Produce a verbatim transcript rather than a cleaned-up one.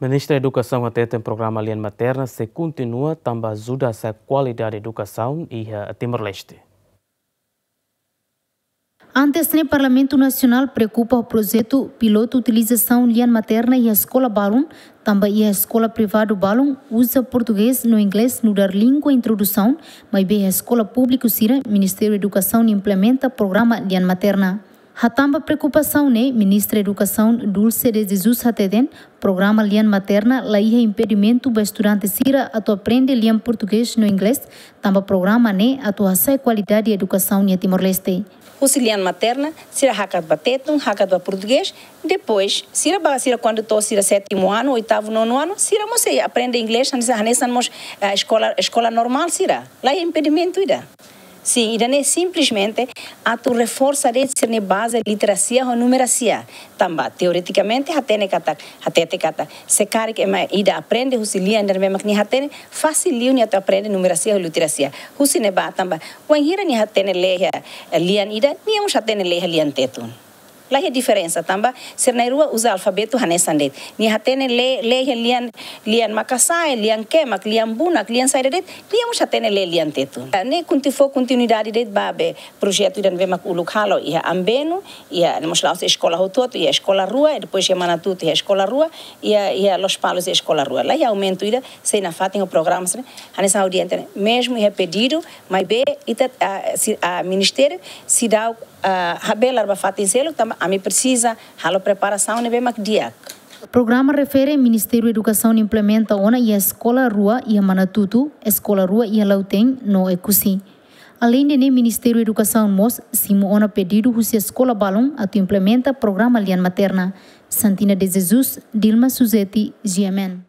Ministra Edukasaun hateten programa Lian Materna sei kontinua tanba ajuda hasa'e kualidade edukasaun iha Timor-Leste. Antes ne'e, Parlamentu Nasionál preokupa ho projetu pilotu utilizasaun lian materna iha eskola balun, tanba iha eskola privadu balun uza portugés no inglés nu'udar língua introdusaun, maibé iha eskola públiku sira, Ministériu Edukasaun implementa programa Lian Materna. Hatán ba preokupasaun ne'e, Ministra Edukasaun Dulce de Jesus hateten, programa Lian Materna la iha impedimentu ba estudante sira atu aprende lian portugés no inglés, tanba programa ne'e atu hasa'e kualidade edukasaun iha Timor-Leste. Husi lian materna, sira hakat ba tetun, hakat ba portugés, depois, sira ba, sira kuandu to'o sira sétimo ano, oitavo, nono ano, sira mós sei aprende inglés, hanesan, hanesan mós, eh, eskola, eskola normál sira. La iha impedimentu ida. Sin, ida-ne'e simplesmente atu reforsa de'it sira-nia baze literasia ho numerasia. Tanba, teoretikamente, hatene katak, hatete katak, se karik ema ida aprende husi lian ida ne'ebé mak nia hatene, fasil liu nia atu aprende numerasia ho literasia. Husi ne'ebá tanba, wainhira nia hatene lee iha, eh, lian ida, nia mós hatene lee iha lian tetun. La iha diferensa tanba, sira na'in-rua uza alfabetu hanesan de'it. Nia hatene lee, lee iha lian, lian makasa'e, lian kemak, lian bunak, lian saida de'it, nia mós hatene lee lian tetun. Ne'e konti-, fó kontinuidade de'it ba be projetu ida ne'ebé mak uluk halo iha Ambeno, iha, ne'e mós la'ós eskola hotu-hotu, iha eskola rua, depois iha Manatuto, iha eskola rua, iha, iha Lospalos, iha eskola rua. La iha aumentu ida, sei nafatin ho programa sira, hanesan audiente, mezmu iha pedidu, maibé ita, ah, si-, ah, ministériu, seidauk, ah, habelar ba fatin seluk, tanba ami presiza halo preparasaun ne'ebé mak di'ak. Programa refere Ministériu Edukasaun implementa ona iha eskola rua iha Manatuto, eskola rua iha Lautém, no Oekusi. Aleinde ne'e, Ministériu Edukasaun mós simu ona pedidu husi eskola balun atu implementa programa Lian Materna. Santina de Jesus, Dilma Suzeti, G M N.